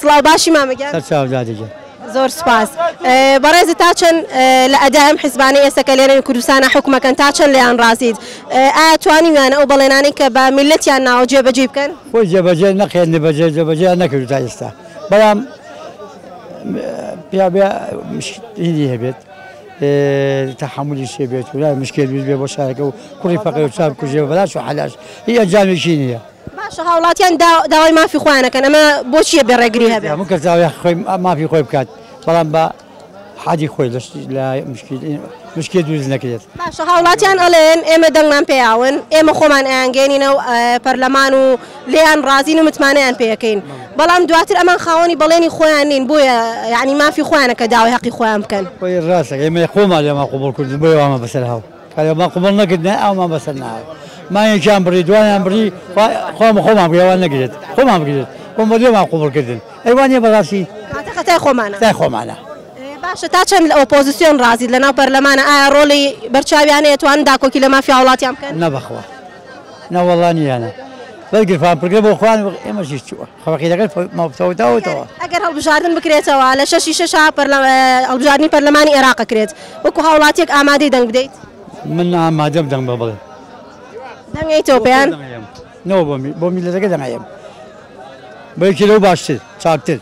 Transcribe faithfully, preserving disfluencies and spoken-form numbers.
سڵاو باشی مامە گیان؟ سەرچاو دادە گیان. زۆر سوپاس. بەڕێزت تا چەند لە ئەدای ئەم حیزبانەی ئێستا کە لێرە کوردستانە حکومەکەن تا چەند لێیان ڕازیت؟ ئایا توانیویانە ئەو بەڵێنانەی کە بە میللەتیان ناوە جێبەجێ بکەن؟ خۆی جێبەجێ نەخێن، بەجێ جێبەجێ نەکردو تا ئێستا، بەڵام پیا بێ هینی هەبێت، تەحەمولی شێ بێت و مشکل دروست بێ بۆ شارەکە و کوڕی فەقیر و چاپ کوژێ و بەلاش و حەلاش هیچ ئەنجامێکی نییە. باشە هاوڵاتیان داوای مافی خۆیانەکەن، ئەمە بۆچیە بێ ڕێگری هەبێت؟ هەموو کەس داوای خۆی مافی خۆی بکات، بەڵام بە حەدی خۆی لە مشکل دروست نەکرێت. باشە هاوڵاتیان ئەڵێن ئێمە دەنگمان پێیاون، ئێمە خۆمان ئەیانگەێنینەوە پەرلەمان و لێیان ڕازین و متمانەیان پێیەکەین، بەڵام دواتر ئەمان خاوەنی بەڵێنی خۆیان نین، بۆیە یعنی مافی خۆیانە کە داوای حەقی خۆیان بکەن. خۆی ڕاستە، ئێمە خۆمان لێمان قبوڵ کردن، بۆیە وامان بەسەر هاو. کارێمان قبوڵ نەکردن ئەومان بەسەر ناو. مایەکیان بڕی، دوانیان بڕی، خۆمان خۆمان بگرێت، نەگرێت، خۆمان بگرێت، خۆمان لێمان قبوڵ کردن. ئەیوانیە بەڕاستی؟ کاتە خەتای خۆمانە. خەتای خۆمانە. باشە تا چەند لە ئۆپۆزیسیۆن ڕازیت لەناو پەرلەمانە؟ ئایا ڕۆڵی بەرچاویانەیە توانن داکۆکی لە مافی هاوڵاتیان بکەن؟ نەبەخوا، نەوەڵا نییانە. بەرگرفان پرگە بۆ خۆیان ئێمەش هیچ چووە. خەڵکی لەگەڵ مەوتەوەتەوە. ئەگەر هەڵبژاردن بکرێتەوە لە شەشی شەشا هەڵبژاردنی پەرلەمانی عێراق کرێت، وەکو هاوڵاتیەک ئامادەی دەنگ بدەیت؟ من ئامادەم دەنگ بە بڵێ. دەنگەیتەوە پێیان؟ نەوە بۆ میللەتەکە دەنگەیەم. بۆ یەکی لەو باشتر، چاکتر.